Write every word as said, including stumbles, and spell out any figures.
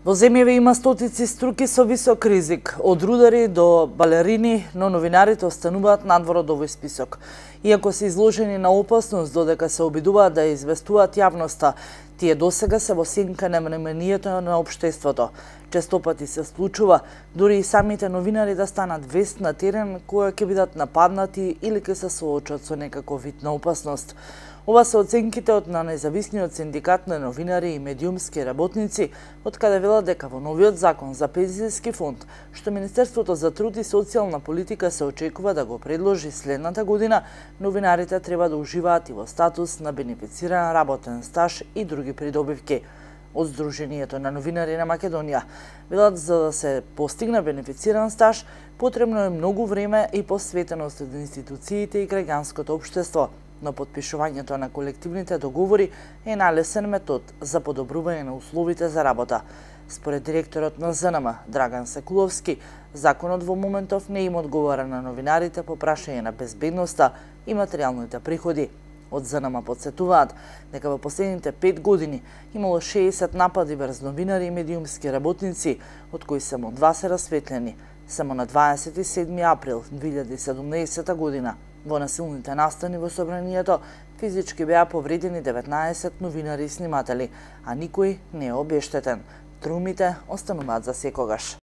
Во земјаве има стотици струки со висок ризик, од рудари до балерини, но новинарите остануваат надвор од овој список. Иако се изложени на опасност додека се обидуваат да известуваат јавноста, тие досега се во сенка на вниманието на општеството. Често пати се случува дури и самите новинари да станат вест на терен која ќе бидат нападнати или ќе се соочат со некаков вид на опасност. Ова се оценките од на независниот синдикат на новинари и медиумски работници, од каде велат дека во новиот закон за пензиски фонд, што Министерството за труд и социјална политика се очекува да го предложи следната година, новинарите треба да уживаат и во статус на бенефициран работен стаж и други придобивки. Од Сдруженијето на новинари на Македонија велат за да се постигне бенефициран стаж, потребно е многу време и посветеност од институциите и граѓанското општество, но подпишувањето на колективните договори е најлесен метод за подобрување на условите за работа. Според директорот на З Н М, Драган Секуловски, законот во моментов не им одговара на новинарите по прашање на безбедноста и материјалните приходи. Од З Н М подсетуваат дека во последните пет години имало шеесет напади врз новинари и медиумски работници, од кои само два се расветлени. Само на дваесет и седми април две илјади и седумнаесета година во насилните настани во собранието физички беа повредени деветнаесет новинари и сниматели, а никој не е обештетен. Трумите остануваат за секогаш.